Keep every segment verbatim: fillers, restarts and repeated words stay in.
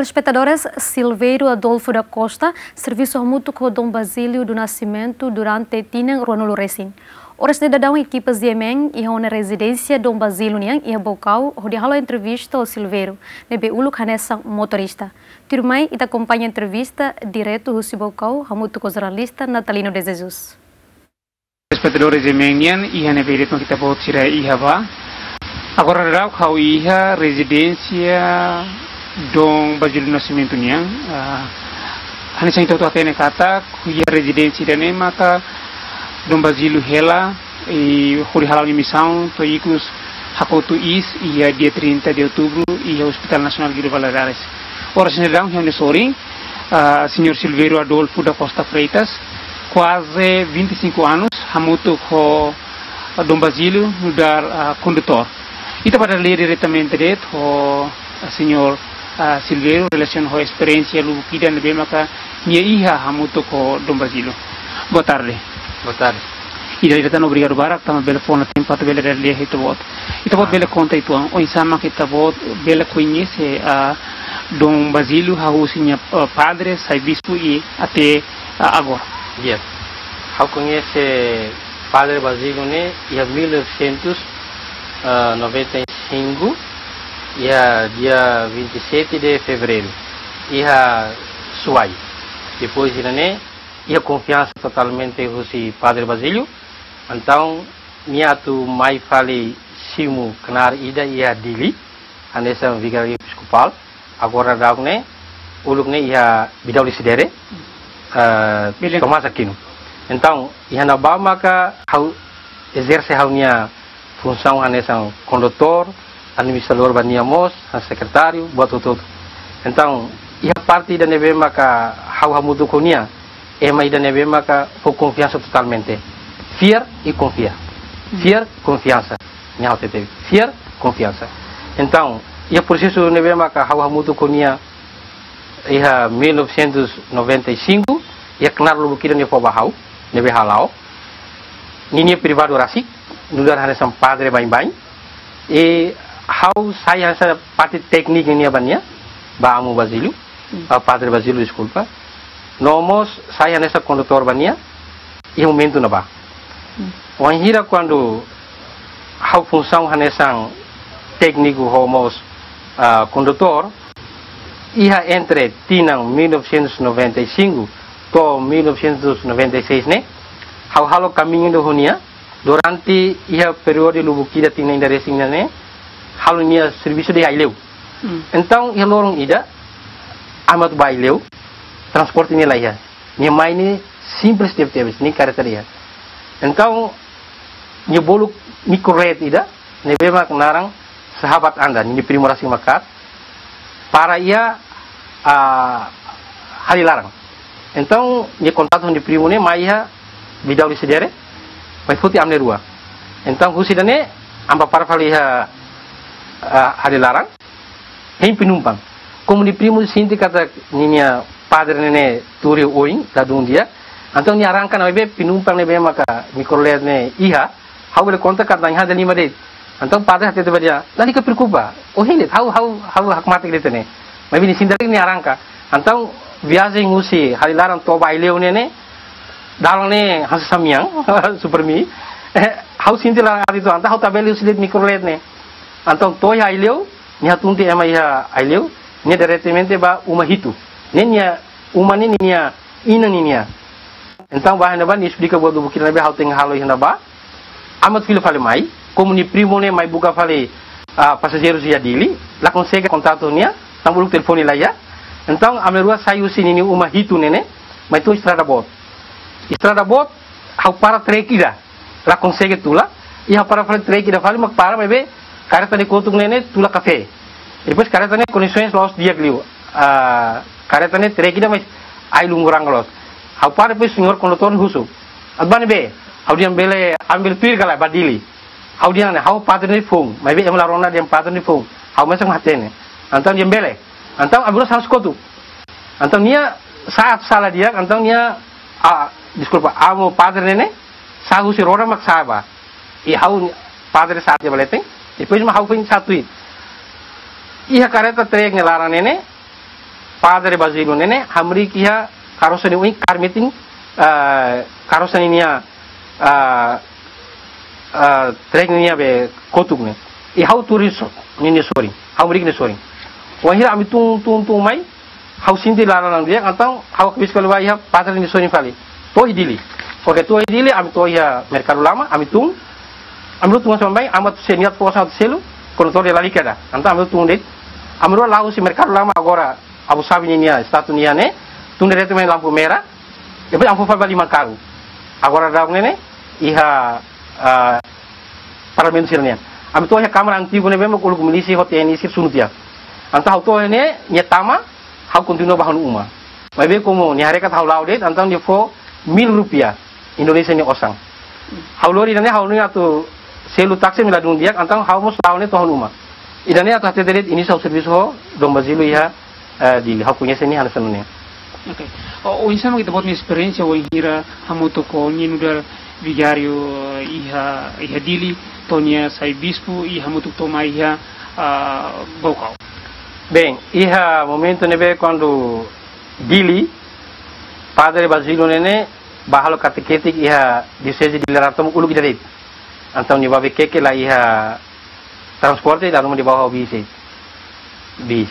Telespetadores, Silveiro Adolfo da Costa servisu hamutuk ho Dom Basílio do Nascimento durante tinan ruanulu resin. Oras ne'e daudaun ekipa Z M N iha ona rezidénsia Dom Basílio nian iha Baucau, hodi halo entrevista ho Silveiro, ne'ebé uluk hanesan motorista. Tuirmai ita akompaña entrevista diretu husi Baucau hamutuk ho jornalista Natalino de Jesus. Telespetadores Z M N nian, iha ne'ebé de'it mak ita-boot sira iha ba. Agora daudaun ha'u iha rezidénsia Dom Basílio Nascimento nian. Ah, hanesan ita hotu hatene katak, iha rezidénsia ida-ne'e maka Dom Basílio hela, i hodi hala'o nia misaun, to'o ikus hakotu iis, iha dia trinta de outubro, iha Hospital Nasionál Guido Valadares. Oras ne'e daudaun, iha ne'e sorin, ah, señór Silveiro Adolfo da Costa Freitas, kuaze vinte e cinco anos, hamutuk ho Dom Basílio nu'udar, ah, kondutór. Ita bá dada lia diretamente de'it ho, ah, señór, ah, Silveiro, relasiona ho esperiénsia lubuk ida ne'ebé maka nia iha hamutuk ho Dom Basílio. Boa tarde. Boa tarde. Ida-idak tan obrigadu barak tanba bele fó ona tempu atu bele dada lia ho ita-boot. Ita-boot Ah. bele konta uitoan, oinsá mak ita-boot bele koñese, ah, Dom Basílio, hahú husi nia, ah, padre, sai bispu i até, ah, agora. Yes. Ha'u koñese Padre Basílio ne'e iha mil novecentos e noventa e cinco, iha dia vinte e sete de fevereiro, iha Suai. Depois ida-ne'e, iha konfiansa totalmente husi Padre Basílio. Entaun, nia atu mai fali simu knaar ida iha Dili, hanesan vigáriu episkopál. Agora daudaun ne'e, uluk ne'e iha Vidal Isidere, eh, Belém. Tomás Aquino. Entaun, iha ne'ebá maka ha'u ezerse ha'u-nia funsaun hanesan kondutór, administradór ba nia mós, hanesan sekretáriu, buat hotu-hotu. Entaun, iha parte ida ne'ebé maka ha'u hamutuk ho nia, ema ida ne'ebé maka fó konfiansa totalmente. Fiar i konfia. Hmm. Fiar, konfiansa. Nia ha'u hatete. Fiar, konfiansa. Entaun, iha prosesu ne'ebé maka ha'u hamutuk ho nia iha mil novecentos e noventa e cinco, iha knaar lubuk ida nia fó ba ha'u, ne'ebé hala'o. Ninia privadu rasik, nu'udar hanesan padre baibain. I ha'u sai hanesan parte tékniku ninia ba nia, ba Amu Basílio, Hmm. ba Padre Basílio, deskulpa. No mós sai hanesan kondutór ba nia, iha momentu ne'ebá. Hmm. Wainhira kuandu ha'u funsaun hanesan tékniku ho mós, ah, kondutór, iha entre tinan mil novecentos e noventa e cinco to'o mil novecentos e noventa e seis ne'e, ha'u halo kamiñu ida ho nia, durante iha períodu lubuk ida tinan ida resin ne'e, halo nia servisu de Aileu. Hmm. Entaun, iha loron ida, ami atu ba Aileu, transporte ne'e laiha. Nia mai ne'e simples tebetebes, nein kareta laiha. Entaun, nia bolu mikrolet ida, ne'ebé mak naran Sahabat Anda, ninia primu rasik mak hakat, para iha, ah, Halilaran. Entaun, nia kontaktu ho nia primu ne'e, mai iha Vidal Isidere, mai foti ami na'in-rua. Entaun, husi ida-ne'e, ami bá para fali iha, ah, Halilaran, hein penumpang. Komu nia primu sente katak ninia padre ne'e ne'e tuur oin, ladún di'ak. Entaun nia arranka ona, maibé penumpang ne'ebé maka mikrolet ne'e iha, ha'u bele konta katak iha dala lima de'it. Entaun padre hatete ba nia, lalika preokupa. Ohin de'it, ha'u, ha'u, ha'u hakmatek de'it ne'e. Maibé nia sente nia arranka. Entaun viajen husi Halilaran to'o ba Aileu ne'e ne'e, dalan ne'e hanesan samyang, super mi. Eh, ha'u sente laran aat uitoan, entaun ha'u tabele husi de'it mikrolet ne'e. Entaun to'o iha Aileu, nia hatunti ema iha Aileu, nia diretamente ba uma hitu. Ne'e nia uma ne'e ninia inan ninia. Entaun ba iha ne'ebá nia esplika buat lubuk ida ne'ebé ha'u tenke halo iha ne'ebá. Ami atu fila fali mai, komu nia primu ne'e mai buka fali, ah, pasajeirus iha Dili, la konsege kontaktu nia, tanba uluk telefone laiha. Entaun ami na'in-rua sai husi ninia uma hitu ne'e ne'e, mai to'o estrada boot. Estrada boot, ha'u para trek ida, la konsege tula, i ha'u para fali trek ida fali mak para, maibé kareta ne'e kotuk ne'e ne'e tula kafé. Depois kareta ne'e kondisoens la'ós di'ak liu. Ah, kareta ne'e trek ida mais ai lungurang loos. Ha'u para depois señór kondutór husu. Atu bá ne'ebé? Ha'u dehan bele, ami bele tuir ka lae ba Dili. Ha'u dehan ne'e, ha'u padre ne'e foun, maibé ema la rona dehan padre ne'e foun. Ha'u mesak mak hatene. Entaun dehan bele. Entaun ami rua sa'e kotuk. Entaun nia sa'e atu sala di'ak, entaun nia, ah, deskulpa, amu padre ne'e ne'e, sa'e husi roda mak sa'e ba. I ha'u padre sa'e tiha ba leten, depois mak ha'u foin sa'e tuir. Iha kareta trek nia laran ne'e ne'e, Padre Basílio ne'e ne'e, hamriik iha karosa nia oin kaer metin, ah, karosa ninia, ah, ah, trek ninia be kotuk ne'e. I ha'u tuur iha so-, ninia sorin. Ha'u hamriik nia sorin. Wainhira ami tun, tun, tun mai, ha'u sente laran di'ak, entaun ha'u hakbesik fali ba iha padre nia sorin fali. To'o iha Dili. Oke, to'o iha Dili, ami to'o iha Merkadu Lama, ami tun. Ami rua tun hanesan baibain, ami atu selu, nia atu fó osan atu selu, kondutór nia lalika ida. Entaun ami rua tun de'it. Ami rua la'o husi Merkadu Lama agora, Abu Sabi ninia estátua nian ne'e, tun diretu mai lampu merah, depois ami fó fali ba liman karuk. Agora daudaun ne'e ne'e, iha, ah, Parlamentu sira-nian. Ami to'o iha Kámara antigu ne'ebé mak uluk milísia ho T N I sira sunu tiha. Entaun ha'u to'o iha ne'e, nia tama, ha'u kontinua ba ha'u-nia uma. Maibé komu nia haree katak ha'u la'o de'it, entaun nia fó mil rupiah Indonézia nia osan. Ha'u lori ida-ne'e ha'u-nia atu selu táksi ami ladún di'ak, entaun ha'u mós la'o ne'e to'o ha'u-nia uma. Ida-ne'e atu hatete de'it inísiu ha'u servisu ho Dom Basílio iha, eh, Dili. Ha'u koñese nia hanesan ne'e. Oke. O, oinsá mak ita-boot nia esperiénsia wainhira hamutuk ho nia nu'udar vigáriu, eh, iha, iha Dili, to'o nia sai bispu, i hamutuk to'o mai iha, ah, Baucau? Bem, iha momentu ne'ebé kuandu Dili, Padre Basílio ne'e ne'e bá halo katekese iha Dioseze Dili laran tomak uluk ida de'it. Entaun nia bá Viqueque la iha transporte, dala ruma nia bá ho bis. Bis.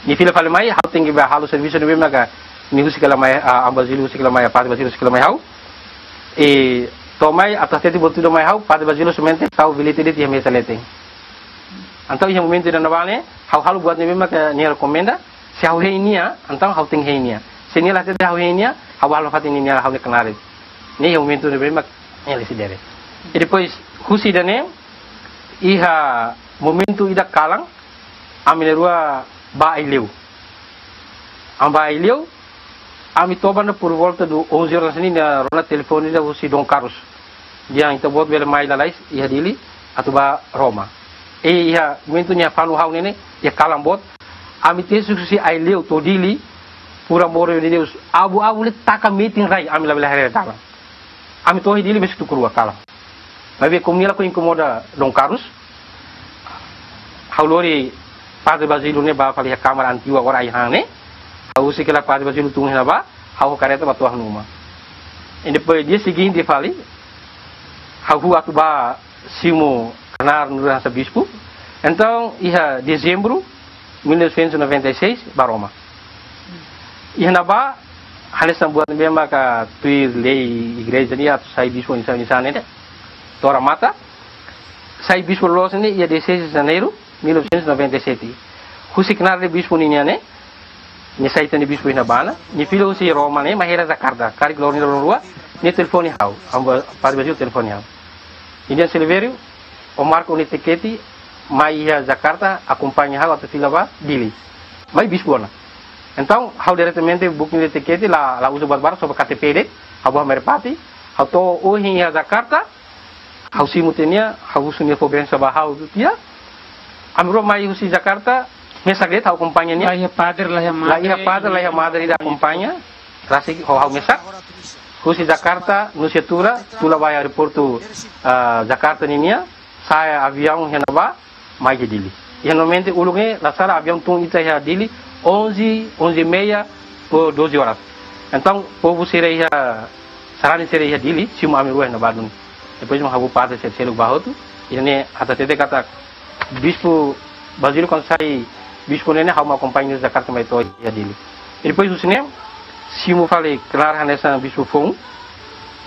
Nia fila fali mai, ha'u tenke bá halo servisu ne'ebé maka nia husik hela mai, ah, Dom Basílio husik hela mai, Padre Basílio husik hela mai ha'u. I to'o mai, atu hatete buat ida mai ha'u, Padre Basílio somente tau bilhete de'it iha mesa leten. Entaun iha momentu ida-ne'ebá ne'e, ha'u halo buat ne'ebé maka nia rekomenda, se ha'u hein nia, entaun ha'u tenke hein nia. Se nia la hatete ha'u hein nia, ha'u halo fatin nia ha'u-nia knaar. Ne'e iha momentu ne'ebé mak nia la sidere. I depois, husi ida-ne'e, iha momentu ida kalan, ami na'in-rua bá Aileu. Ami bá Aileu, ami toba ne'e por volta do onze horas ne'e nia rona telefone ida husi Dom Carlos. Dehan ita-boot bele mai lalais iha Dili atu bá Roma. I iha momentu nia fanu ha'u ne'e ne'e, iha kalan boot, ami tesi husi Aileu to'o Dili, por amor de Deus, abu-abu ne'e taka metin rai, ami labele haree dalan. Ami to'o iha Dili besik tuku rua kalan. Maibé komu nia la ko inkomoda Dom Carlos, ha'u lori Padre Basílio ne'e bá fali iha kámara antigu agora ai-han ne'e. Ha'u husik hela Padre Basílio tun iha ne'ebá, ha'u ho karreta bá to'o ha'u-nia uma. I depois dia seguinte fali, ha'u huu atu bá simu knaar nu'udar hanesan bispu. Entaun, iha Dezembru mil novecentos e noventa e seis, bá Roma. Iha ne'ebá, hanesan buat ne'ebé maka tuir lei igreja nian atu sai bispu oinsá, oinsá ne'e, tora mata. Sai bispu loloos ne'e iha dezasseis de Janeiro mil novecentos e noventa e sete. Husi knaar de bispu ninian ne'e, nia sai tan ne'e bispu iha ne'ebá ona, nia fila husi Roma ne'e, mai hela Jakarta, karik loron ida loron rua, nia telefone ha'u, Dom Ba-, Padre Basílio telefone ha'u. Nia dehan Silvério, ó marka ó-nia tikete, mai iha Jakarta, akompaña ha'u atu fila ba Dili. Mai bispu ona. Entaun, ha'u diretamente buka nia tikete, la, la uza buat barak, só ba K T P de'it, ha'u bá Merpati, ha'u to'o ohin iha Jakarta, ha'u simu tiha nia, ha'u husu nia fó bensaun ba ha'u tiha. Ami rua mai husi Jakarta, mesak de'it ha'u akompaña nia. La iha padre, la iha madre. La iha padre, la iha madre ida akompaña. Rasik ho ha'u mesak. Husi Jakarta, Nusa Dua, tula ba aeroportu, ah, Jakarta ninian, sa'e aviaun iha ne'ebá, mai iha Dili. Iha normalmente uluk ne'e, la sala aviaun tun ita iha Dili, onze, onze e meia ou doze horas. Entaun, povu sira iha, sarani sira iha Dili, simu ami rua iha ne'ebá duni. Depois mak ha'u ho padre sira seluk bá hotu, ida-ne'e atu hatete katak Bispu Basílio kuandu sai bispu ne'e ne'e ha'u mak akompaña husi Jakarta mai to'o iha Dili. I depois husi ne'e, simu fali knaar hanesan bispu foun,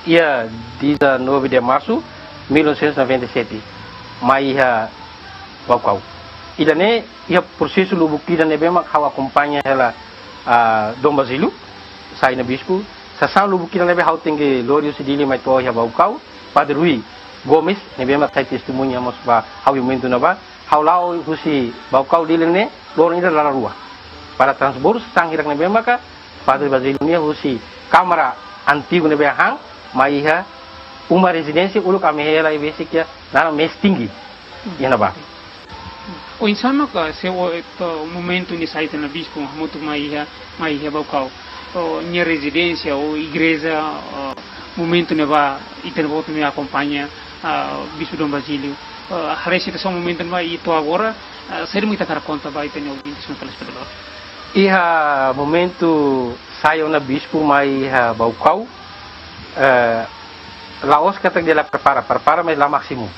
iha dezanove de março mil novecentos e noventa e sete, mai iha Baucau. Ida-ne'e iha prosesu lubuk ida ne'ebé mak ha'u akompaña hela, ah, Dom Basílio, sai ona bispu. Sasán lubuk ida ne'ebé ha'u tenke lori husi Dili mai to'o iha Baucau, Padre Rui Gomes, ne'ebé mak sai testemuña mós ba ha'u iha momentu ne'ebá. Ha'u la'o husi Baucau Dili ne'e, loron ida dala rua. Para transbordu sasán hirak ne'ebé maka Padre Basílio nian husi kámara antigu ne'ebé han, mai iha uma rezidénsia uluk ami hela iha besik iha naran Mestingui. Iha ne'ebá. Oinsá mak, ah, se o, eh, to, momentu nia sai tan ne'e bispu, hamutuk mai iha, mai iha Baucau. O, nia rezidénsia, o, igreja, o, momentu ne'ebá, ita-boot nia akompaña, ah, Bispu Dom Basílio. Ah, haree situasaun momentu ne'ebá, i to'o agora, ah, saida mak ita hakarak konta ba ita-nia ouvintes no telespetadór? Iha momentu sai ona bispu mai iha Baucau, eh, la'ós katak nia la prepara, prepara, mas la másimu.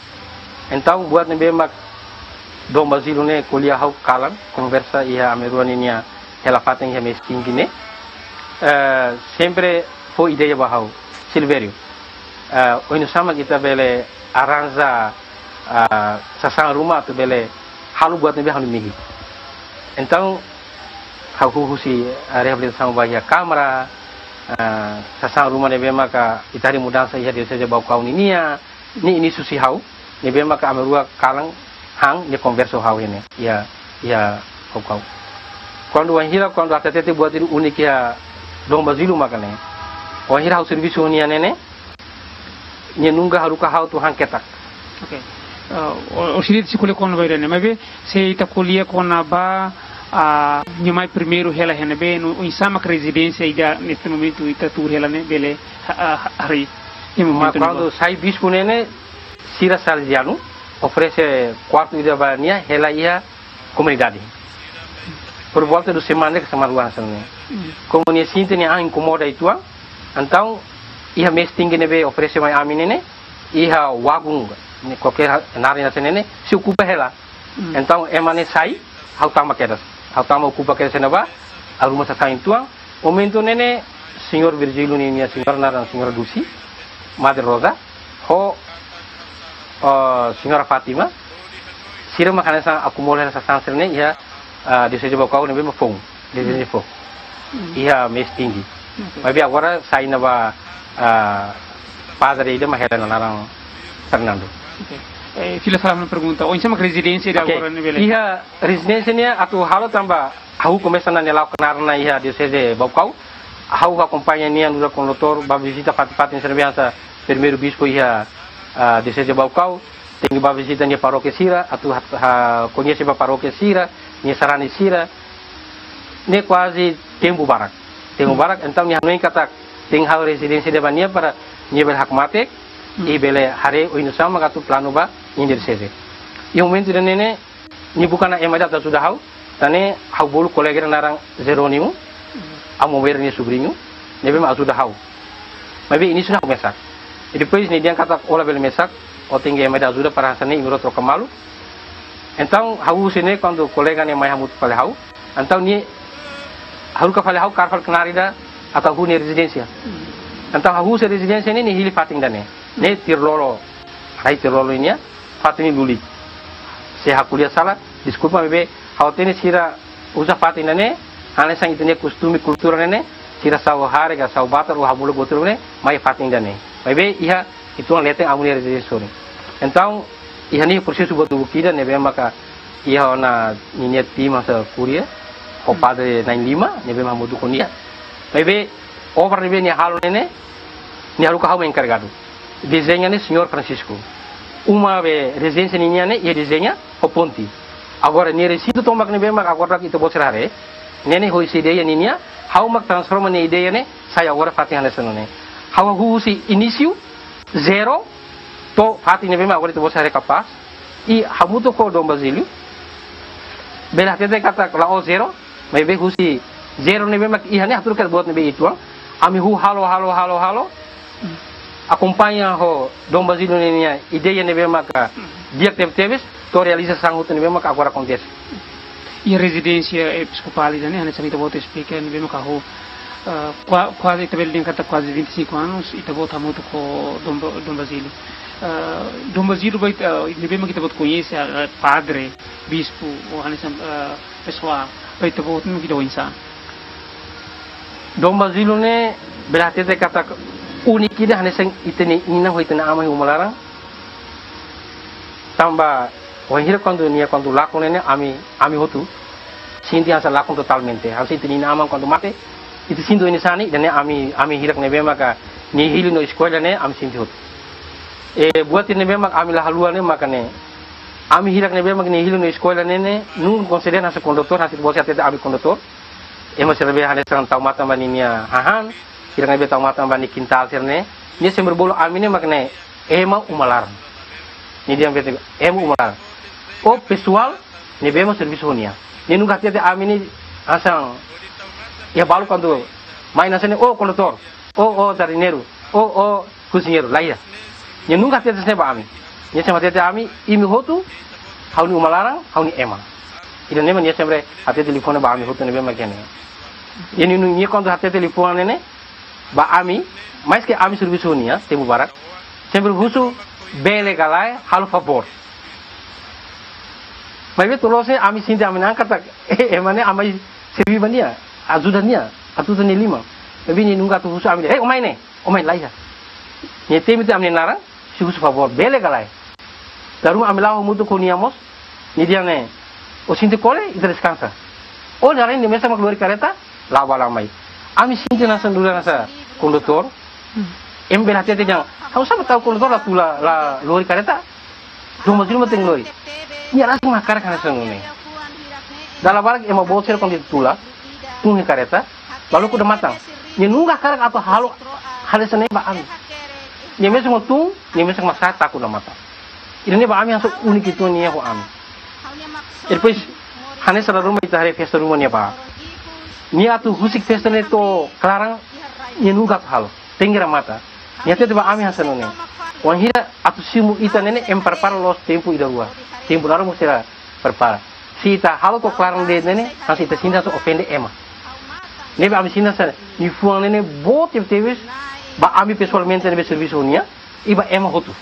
Entaun, buat ne'ebé mak Dom Basílio ne'e ko'alia ha'u kalan, konversa iha ami rua ninia hela-fatin iha Meeting ne'e, eh, sempre fó ideia ba ha'u, Silvério, eh, oinsá mak ita bele arranja, ah, sasán ruma atu bele halo buat ne'ebé ha'u-nia mehi. Entaun, ha'u husi, ah, reabilitasaun ba iha Kámara, ah, sasán ruma ne'ebé maka ita harii mudansa iha Dioseze Baucau ninia, ne'e inísiu husi ha'u, ne'ebé maka ami rua kalan han, nia konversa ho ha'u iha ne'e, iha, iha Baucau. Kuandu wainhira, kuandu hatete buat ida úniku iha Dom Basílio maka ne'e. Wainhira ha'u servisu ho nia ne'e ne'e, nia nunka haruka ha'u atu han ketak. Ok. Ah, o, o sini si ko'alia kona-ba ida-ne'e, maibé se ita ko'alia kona-ba, ah, nia mai primeiru hela iha ne'ebé, no, oinsá mak rezidénsia ida neste momentu ita tuur hela ne'e, bele, ah, ah, harii. Iha momentu ne'ebá. Mas kuandu sai bispu ne'e ne'e, sira Salesianu oferese kuartu ida ba nia hela iha komunidade. Por volta de semana ka semana rua hanesan ne'e. Hmm. Komu nia sente nia an inkomoda uitoan, entaun iha Meeting ne'ebé oferese mai ami ne'e ne'e, iha wagun, ne'e kualkér ha-, naran hanesan ne'e ne'e, sei okupa hela. Hmm. Entaun ema ne'e sai, ha'u tama kedas. Ha'u tama okupa kedas iha ne'ebá, arruma sasán uitoan. Momentu ne'e ne'e, Señór Virgílio ninia señora naran Señora Dulce, Madre Rosa, ho, eh, Señora Fátima, sira mak hanesan akumula sasán sira-ne'e iha, eh, Dioseze Baucau ne'ebé mak foun, Dioseze foun. Hmm. Iha Meeting. Ok. Maibé agora sai ona ba, eh, padre ida mak hela naran Fernando. Ok. Eh, fila fali ha'u-nia pergunta. Oinsá mak rezidénsia ida. Ok. Agora ne'e bele? Iha rezidénsia ne'e atu halo tanba ha'u komesa ona ne'e la'o knaar ona iha Dioseze Baucau. Ha'u akompaña nia nu'udar kondutór ba vizita fatin-fatin sira ne'ebé hanesan primeiru bispu iha, ah, Dioseze Baucau. Tenke ba vizita nia parókia sira, atu ha-, ha-, koñese ba parókia sira, nia sarani sira. Ne'e kuaze tempu barak. Tempu barak, entaun nia hanoin katak tenke halo rezidénsia ida ba nia para nia bele hakmatek, Hmm. i bele haree oinsá mak atu planu ba nia dioseze. Iha momentu ida-ne'e ne'e, nia buka ona ema ida atu ajuda ha'u, tan ne'e ha'u bolu kolega ida naran Jerónimo, Amu Weira nia subriñu, ne'ebé mak ajuda ha'u. Maibé inísiu ne'e ha'u mesak. I depois nia dehan katak ó labele mesak, ó tenke ema ida ajuda para hanesan ne'e imi rua troka malu. Entaun ha'u husi ne'e kuandu kolega ne'e mai hamutuk fali ha'u, entaun nia haruka fali ha'u kaer fali knaar ida atu hahú nia rezidénsia. Entaun ha'u husi rezidénsia ne'e, nia hili fatin ida-ne'e. Ne'e Tirlolo, rai Tirlolo nian, fatin ida lulik. Se ha'u ko'alia sala, deskulpa, maibé ha'u hatene sira uza fatin ida-ne'e, hanesan ita-nia kostume kultura ne'e ne'e, sira sa'u hare ka sa'u batar ou hamuluk buat ruma ne'e, mai fatin ida-ne'e. Maibé iha uitoan leten Amu nia rezidénsia sorin. Entaun, iha ne'e prosesu buat ruma ida ne'ebé maka iha ona ninia tim hanesan kuria, ho Hmm. padre na'in-lima, ne'ebé mak hamutuk ho nia. Maibé, obra ne'ebé nia halo ne'e ne'e, nia haruka ha'u mak enkarregadu. Dezeña ne'e Señór Francisco. Uma be rezidénsia ninian ne'e, iha dezeña, ho ponte. Agora, nia resintu tomak ne'ebé mak agora ita-boot sira haree, ne'e ne'e ho husi ideia ninian, ha'u mak transforma nia ideia ne'e, sai agora fatin hanesan ne'e. Ha'u husi inísiu, zero, to'o fatin ne'ebé mak agora ita-boot sira haree kapás, i hamutuk ho Dom Basílio, bele hatete katak la'ós zero, maibé husi zero ne'ebé mak iha ne'e hatudu katak buat ne'ebé uitoan, ami hahú halo, halo, halo, halo, akompaña ho Dom Basílio ninia ideia ne'ebé maka di'ak tebetebes, to'o realizasaun hotu ne'ebé maka agora akontese. Iha rezidénsia episkopál ida-ne'e, hanesan ita-boot esplika, ne'ebé maka ho, eh, kua-, kuaze ita bele dehan katak kuaze vinte e cinco anos, ita-boot hamutuk ho Dom Ba-, Dom Basílio. Eh, Dom Basílio ba ita, eh, ne'ebé maka ita-boot koñese, eh, padre, bispu, ou hanesan, eh, pesoál, ba ita-boot mak ita oinsá? Dom Basílio ne'e, bele hatete katak úniku ida hanesan ita-nia inan ho ita-nia aman iha uma laran. Tanba, wainhira kuandu nia kuandu lakon ne'e ne'e, ami, ami hotu sente hanesan lakon totalmente. Hanesan ita-nia inan aman kuandu mate, ita sente oinsá ne'e, ida-ne'e ami, ami hirak ne'ebé maka nia hili no eskolla ne'e, ami sente hotu. I buat ne'ebé maka ami la haluha ne'e maka ne'e, ami hirak ne'ebé maka nia hili no eskolla ne'e ne'e, nunka konsidera hanesan kondutór, hanesan ita-boot sira hatete ami kondutór. Ema sira ne'ebé hanesan tau matan ba ninia hahán, hirak ne'ebé tau matan ba nia kintál sira-ne'e, nia sempre bolu ami ne'e mak ne'e ema uma laran. Nia dehan bete ema uma laran. Ou pesoál ne'ebé mak servisu ho nia. Nia nunka hatete ami ne'e hanesan, iha balu kuandu mai hanesan ne'e, "Ó kondutór, ó, ó jardineiru, ó, ó koziñeiru," laiha. Nia nunka hatete hanesan ne'e ba ami. Nia sempre hatete ami, "Imi hotu, ha'u-nia uma laran, ha'u-nia ema." Ida-ne'e mak nia sempre hatete liafuan ba ami hotu ne'ebé mak ne'e. Nia, nia, nia kuandu hatete liafuan ne'e, ne'e, ba ami, maske ami servisu ho nia, tempu barak, sempre husu, "Bele ka lae, halo favór." Maibé to'o loos ne'e ami sente ami-nia an katak, eh, ema ne'e ami mai serví ba nia, ajuda nia, atu nia liman. Maibé nia nunka atu husu ami, "Eh, ó mai ne'e, ó mai," laiha. Nia temi tiha ami-nia naran, sei husu favór, "Bele ka lae?" Dala ruma ami la'o hamutuk ho nia mós, nia dehan ne'e, "Ó sente kole, ita deskansa." Ó, dala ruma nia mesak mak lori karreta, la'o ba la'o mai. Ami sente hanesan duda hanesan kondutór, ema bele hatete dehan, "Ha'u sá mak tau kondutór la tula, la lori karreta? Dom Basílio mak tenke lori." Nia rasik mak hakarak hanesan ne'e. Dala barak ema boot sira kuandu tula, tun iha karreta, balu kuda matan. Nia nunka hakarak atu halo hal hanesan ne'e ba ami. Nia mesak mak tun, nia mesak mak sa'e, takut ona matan. Ida-ne'e ba ami hanesan úniku uitoan nia ho ami. Depois, hanesan dala ruma ita haree festa ruma nia ba. Nia atu husik festa ne'e to'o klaran, nia nunka atu halo. Tenke remata. Nia hatete ba ami hanesan ne'e. Wainhira atu simu ita ne'e ne'e, ema prepara loos tempu ida rua. Tempu laran mós sira prepara. Se ita halo to'o klaran de'it ne'e ne'e, hanesan ita sente hanesan ofende ema. Ne'ebé ami sente hanesan, nia liafuan ne'e ne'e boot tebetebes, ba ami pesoalmente ne'ebé servisu ho nia, i ba ema hotu.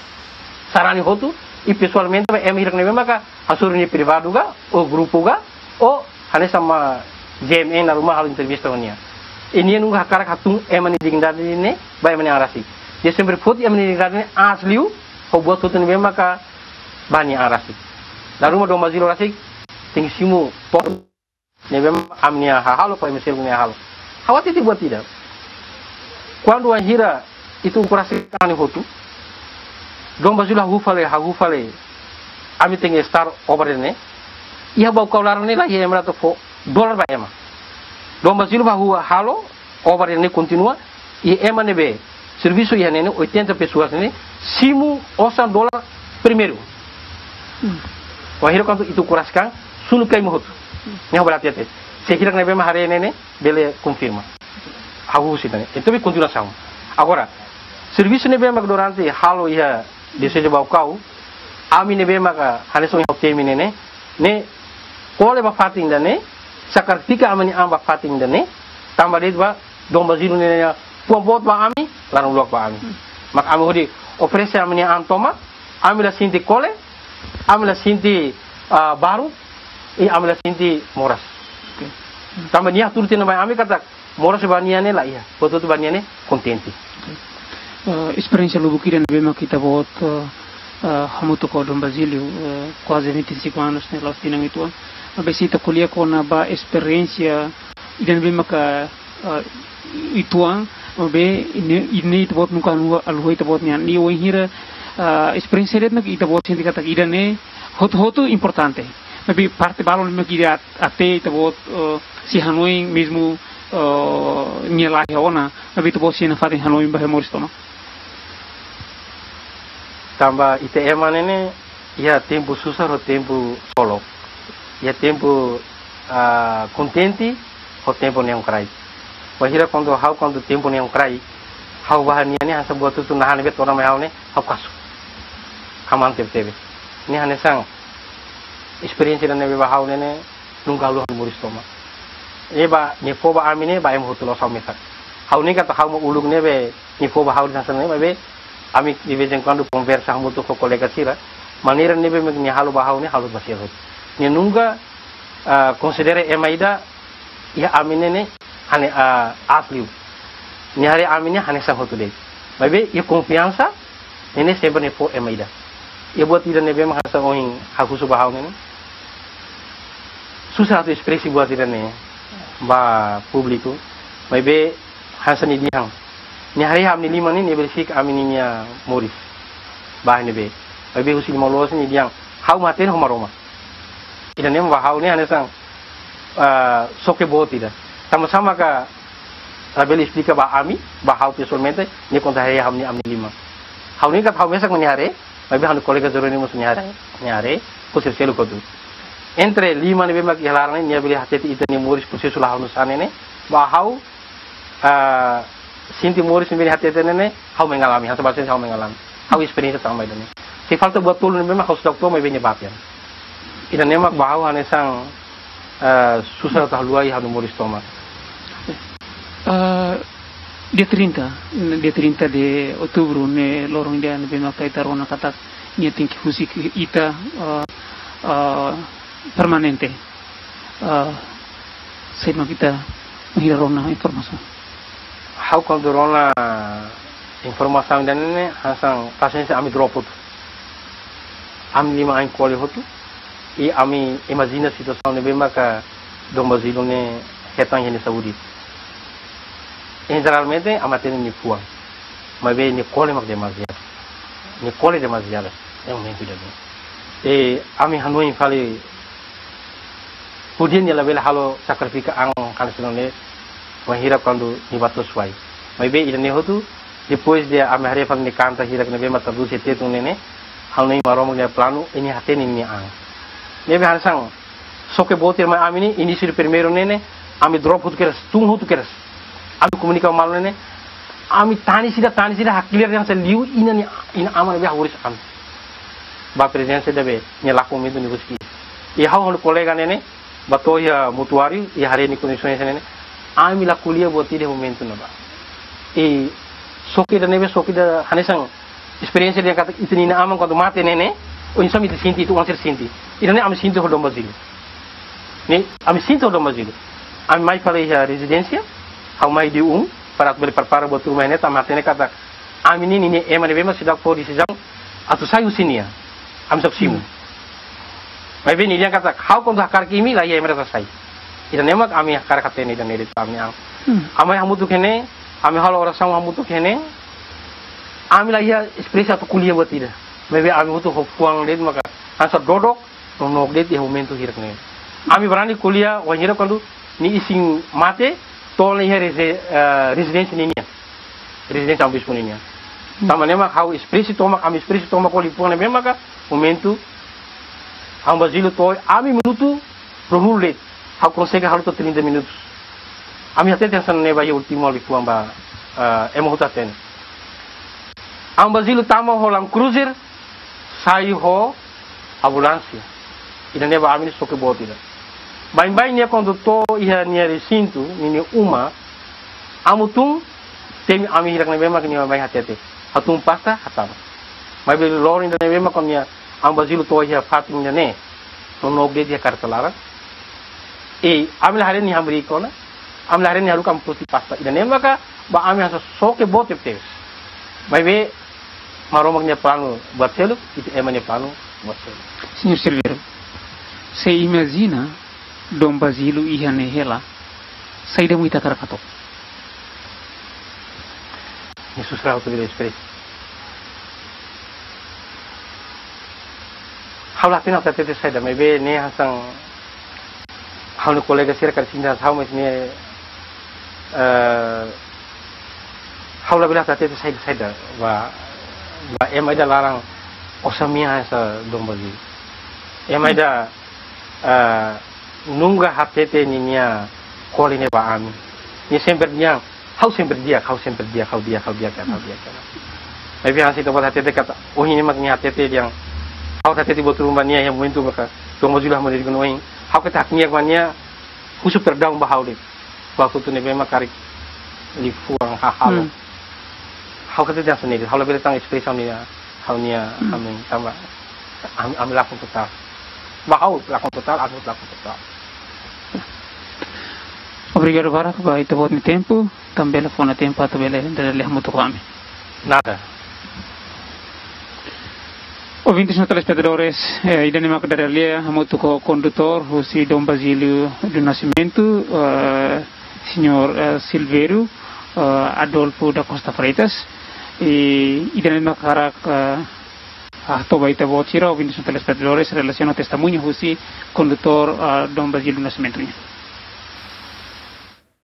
Sarani hotu, i pesoalmente ba ema hirak ne'ebé maka hasoru nia privadu ka, ou grupu ka, ou hanesan ema G M N dala ruma halo entrevista ho nia. I nia nunka hakarak hatún ema nia dignidade ne'e ba ema nia an rasik. Nia sempre foti ema nia dignidade ne'e aas liu, ho buat hotu ne'ebé maka ba nia an rasik. Dala ruma Dom Basílio rasik, tenke simu pontu ne'ebé ami-nia hahalok, ka ema seluk nia hahalok. Ha'u hatete buat ida. Kuandu wainhira ita ukun rasik ami hotu, Dom Basílio hahú fali, hahú fali, ami tenke start obra ne'e. Iha Baucau laran ne'e laiha ema atu fó dolar ba ema. Dom Basílio hahú halo, obra ne'e kontinua, i ema ne'ebé servisu iha ne'e ne'e, oitenta pessoas ne'e, simu osan dolar primeiru. Hmm. Wainhira kuandu ita ukun rasik an, sunu kai ema hotu. Hmm. Ne'e ha'u bele hatete. Se hirak ne'ebé mak haree ne'e ne'e, bele konfirma. Ha'u husu ida-ne'e. Entaun, be kontinua sama. Agora, servisu ne'ebé mak durante halo iha Dioseze Baucau, ami ne'ebé maka hanesan ohin ha'u temi ne'e ne'e, ne'e kole ba fatin ida-ne'e, sakritika ami-nia an ba fatin ida-ne'e, tanba de'it ba Dom Basílio ne'e ne'e fuan boot ba ami, laran-luak ba ami. Hmm. Maka ami hodi oferese ami-nia an tomak, ami la sente kole, ami la sente, ah, baruk, i ami la sente moras. Oke. Tanba nia hatudu tiha ona mai ami katak, moras ba nia ne'e laiha, portantu ba nia ne'e kontente. Eh, esperiénsia lubuk ida ne'ebé mak ita-boot, eh, eh, hamutuk ho Dom Basílio, eh, kuaze vinte e cinco anos ne'e, la'ós tinan uitoan. Maibé se ita ko'alia kona-ba esperiénsia ida ne'ebé maka, eh, uitoan, maibé ne'e, ne'e ita-boot nunka haluha, haluha ita-boot nian. I wainhira, eh, esperiénsia de'it mak ita-boot sente katak ida-ne'e hotu-hotu importante. Maibé parte balun ne'e mak ida aat, até ita-boot, eh, sei hanoin mezmu, eh, nia laiha ona, maibé ita-boot sei nafatin hanoin ba iha moris tomak. Tanba ita ema ne'e ne'e, iha tempu susar ho tempu solok. Iha tempu, ah, kontente ho tempu neon kraik. Wainhira kuandu ha'u, kuandu tempu neon kraik, ha'u ba ha'u-nia an ne'e hanesan buat hotu-hotu naran ne'ebé todan mai ha'u ne'e, ha'u kasu. Kamaan tebetebes. Ne'e hanesan esperiénsia ida ne'ebé ba ha'u ne'e ne'e, nunka haluha iha moris tomak. Ne'e ba, nia fó ba ami ne'e, ba ema hotu loos, ha'u mesak. Ha'u hanoin katak ha'u mak uluk ne'ebé nia fó ba ha'u hanesan ne'e, maibé ami de vez em quando konversa hamutuk ho kolega sira. Maneira ne'ebé mak nia halo ba ha'u ne'e, halo ba sira hotu. Nia nunka, ah, konsidera ema ida iha ami ne'e ne'e, hane, ah, aas liu. Nia haree ami ne'e hanesan hotu de'it. Maibé iha konfiansa, ne'e ne'e sempre nia fó ema ida. Iha buat ida ne'ebé mak hanesan ohin ha'u husu ba ha'u ne'e ne'e, susar atu espresa buat ida-ne'e ba públiku. Maibé hanesan nia dehan, nia haree ami-nia liman ne'e, nia verifica ami-nia moris. Ba ne'ebé. Maibé husi liman loloos nia dehan, ha'u mak hatene ho Maromak. Ida-ne'e ba ha'u ne'e hanesan, ah, xoke boot ida. Tanba sá maka labele esplika ba ami, ba ha'u pesoalmente, nia kuandu haree ami-nia, ami-nia liman. Ha'u hanoin katak ha'u mesak mak nia haree, maibé ha'u-nia kolega Jerónimo mós nia haree, nia haree, ho sira seluk hotu. Entre lima ne'ebé mak iha laran ne'e, nia bele hatete ita-nia moris prosesu la halo nusá ne'e ne'e, ba ha'u, ah, sente moris ne'ebé nia hatete ne'e ne'e, ha'u mengalami, hanesan bahasa Indonesia ha'u mengalami. Ha'u esperiénsia tanba ida-ne'e. Se falta buat tolu ne'ebé mak ha'u seidauk to'o, maibé nia bá tiha ona. Ida-ne'e mak ba ha'u hanesan, ah, susar atu haluha iha ha'u-nia moris tomak. Ah, dia trinta, dia trinta de outubro ne'e loron ida ne'ebé maka ita rona katak nia tenke husik ita, ah, ah, permanente. Ah, saida mak ita bainhira rona informasaun? Ha'u kuandu rona informasaun ida-ne'e ne'e, hanesan pasiénsia ami drop hotu. Ami lima ain kole hotu, i ami imajina situasaun ne'ebé maka Dom Basílio ne'e hetan iha nia saúde. Jeralmente, ami hatene nia fuan. Maibé nia kole mak demaziadu. Nia kole demaziadu. Iha momentu ida-ne'e. I ami hanoin fali hodi nia labele halo sakrifika an hanesan ne'e, bainhira kuandu nia bá to'os wai. Maibé ida-ne'e hotu, depois de ami haree fali nia kanta hirak ne'ebé mak tradús iha Tetun ne'e ne'e, hanoin Maromak nia planu, i nia hatene nia an. Ne'ebé hanesan, xoke boot ida mai ami ne'e, inísiu de primeiru ne'e ne'e, ami drop hotu kedas, tun hotu kedas. Ami komunika malu ne'e ne'e, ami tanis ida, tanis ida, hakilar hanesan liu inan nia, inan-aman ne'ebé hahoris ami. Ba prezensa ida be, nia lakon momentu nia husik. I ha'u ho ha'u-nia kolega ne'e ne'e, bá to'o iha mortuáriu, i haree nia kondisaun hanesan ne'e ne'e, ami la ko'alia buat ida iha momentu ne'ebá. I xoke ida ne'ebé, xoke ida hanesan esperiénsia ida katak ita-nia inan-aman kuandu mate ne'e ne'e, oinsá mak ita sente, ita-nia oan sira sente. Ida-ne'e ami sente ho Dom Basílio. Ne'e, ami sente ho Dom Basílio. Ami mai fali iha rezidénsia, ha'u mai dia um, para atu bele prepara buat ruma ne'e, tanba hatene katak ami ne'e ninia ema ne'ebé mak seidauk fó desizaun atu sai husi nia. Ami seidauk simu. Hmm. Maibé nia dehan katak, ha'u kuandu hakarak imi, la iha ema ida sai. Ida-ne'e mak ami hakarak hatene ida-ne'e de'it ba ami-nia an. Hmm. Ami hamutuk iha ne'e, ami halo orasaun hamutuk iha ne'e, ami la iha esperiénsia atu ko'alia buat ida. Maibé ami hotu ho fuan de'it maka hanesan dodok, nonook de'it iha momentu hirak ne'e. Ami barani ko'alia wainhira kuandu nia isin mate, to'o ona iha reze-, eh, rezidénsia ninian. Rezidénsia Amu Bispu ninian. Hmm. Tanba ne'e mak ha'u espresi tomak, ami espresi tomak ho liafuan ne'ebé maka momentu Amu Basílio to'o, ami minutu ruanulu de'it. Ha'u konsege halo to'o trinta minutus. Ami hatete hanesan ne'e ba iha últimu liafuan ba, eh, ema hotu hatene. Amu Basílio tama ho Land Cruiser, sai ho ambulánsia. Ida-ne'e ba ami ne'e xoke boot ida. Baibain nia kuandu to'o iha nia resintu, ninia uma, amu tun, temi ami hirak ne'ebé mak nia mai hatete. Hatún pasta, hatama. Maibé loron ida ne'ebé mak kuandu nia Amu Basílio to'o iha fatin ida-ne'e, nonook de'it iha karreta laran. I ami la haree nia hamriik ona, ami la haree nia haruka amu-nia pasta. Ida-ne'e maka ba ami hanesan xoke boot tebes. Maibé Maromak nia planu buat seluk, ita ema nia planu buat seluk. Señór Silvério, se imajina Dom Basílio iha ne'e hela, saida mak ita hakarak hato'o? Ne'e susar ha'u atu bele espresa. Ha'u la hatene atu hatete saida, maibé ne'e hanesan ha'u-nia kolega sira karik sente hanesan ha'u, mas ne'e, eh, ha'u labele atu hatete saida, saida ba, ba ema ida laran osan mean hanesan Dom Basílio. Ema ida, eh, nunka hatete ninia kole ne'e ba ami. Nia sempre dehan, ha'u sempre di'ak, ha'u sempre di'ak, ha'u di'ak, ha'u di'ak, ha'u di'ak. Maibé hanesan ita-boot hatete katak, ohin ne'e mak nia hatete dehan, ha'u hatete buat ruma ba nia iha momentu maka, Dom Basílio hamriik ona ohin, ha'u keta hakne'ak ba nia, husu perdaun ba ha'u de'it. Ba hotu ne'ebé mak karik liafuan hahalok. Hmm. Ha'u keta dehan hanesan ne'e, ha'u labele tan espresa ha'u-nia, ha'u-nia, hmm, ha'u-nia tanba, ami, ami lakon totál. Ba ha'u lakon totál, ami lakon totál. Obrigadu barak ba ita-boot nia tempu, tanba bele fó ona tempu atu bele dada lia hamutuk ho ami. Nada. Ouvintes no telespetadores, eh, ida-ne'e mak dada lia hamutuk ho kondutór husi Dom Basílio do Nascimento, eh, señór, eh, Silvério, eh, Adolfo da Costa Freitas. I ida-ne'e mak hakarak, eh, hato'o ba ita-boot sira, ouvintes no telespetadores, relasiona testemuña husi kondutór, eh, Dom Basílio do Nascimento nian.